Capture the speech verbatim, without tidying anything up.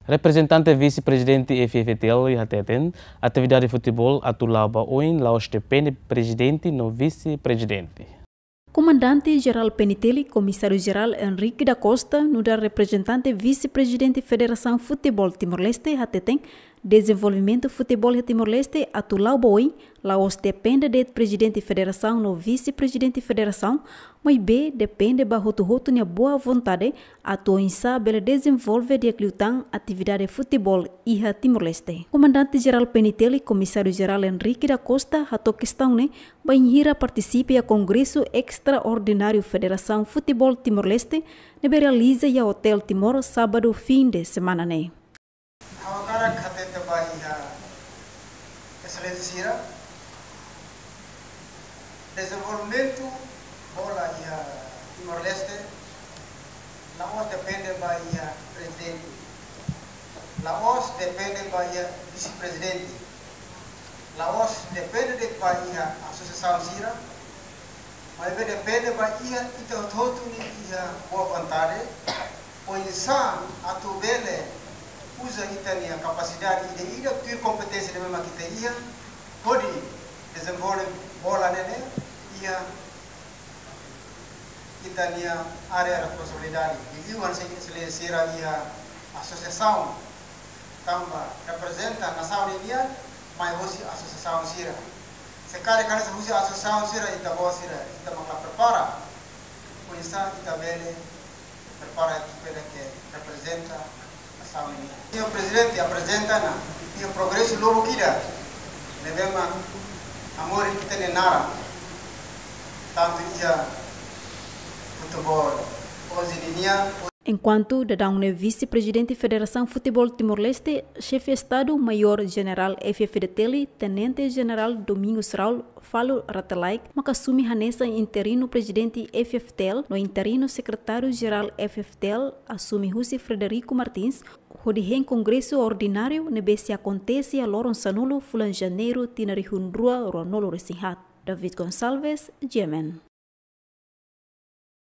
Reprezentante Vise-Prezidente F F T L hateten, atividade futeból atu la'o ba oin la'ós depende prezidente no vise-prezidente. Komandante Jerál P N T L, Komisáriu Jerál Henrique da Costa, nu'udar reprezentante Vise-Prezidente Federasaun Futeból Timor-Leste, hateten, dezenvolvimentu futeból iha Timor-Leste atu la'o ba oin la'ós depende de'it prezidente federasaun no vise-prezidente federasaun, maibé depende ba hotu-hotu nia boa vontade atu oinsá bele dezenvolve di'ak liután atividade futeból iha Timor-Leste. Komandante Jerál P N T L, Komisáriu Jerál Henrique da Costa, hato'o kestaun ne'e bainhira partisipa iha Kongresu Estraordináriu Federasaun Futeból Timor-Leste, ne'ebé realiza iha Hotel Timor, sábadu fin de semana ne'e. Ha'u hakarak hatete ba iha Exelénsia sira, dezenvolvimentu bola iha Timor-Leste la'ós depende ba iha prezidente, la'ós depende ba iha vise-prezidente, la'ós depende de'it ba iha asosiasaun sira, maibé depende ba iha ita hotu-hotu nia iha boa vontade, oinsá atu bele uza ita-nia kapasidade ida-idak, tuir kompeténsia ne'ebé mak ita iha, hodi dezenvolve bola ne'e iha ita-nia área responsabilidade. Liuliu hanesan Exelénsia sira iha asosiasaun, tanba reprezenta nasaun ninian, mai hosi asosiasaun sira. Se karik hanesan husi asosiasaun sira, ita-boot sira, ita mak la prepara, oinsá ita bele prepara ekipa ida ke reprezenta nasaun ninian. Señór Prezidente aprezenta ona iha progresu lubuk ida ne'ebé mak hamoris ita-nia naran, tantu iha futeból onze ninian. Enkuantu daudaun ne'e Vise-Prezidente Federasaun Futeból Timor-Leste, Xefe Estadu Maiór Jenerál F F T L, Tenente Jenerál Domingos Raul Falur Rate Laek, maka asume hanesan interinu prezidente F F T L, no interinu sekretáriu jerál F F T L asume husi Frederico Martins, hodi hein Kongresu Ordináriu ne'ebé sei akontese iha loron sanulu fulan Janeiru tinan rihun rua ruanulu-resin-haat. David Gonçalves, G M N.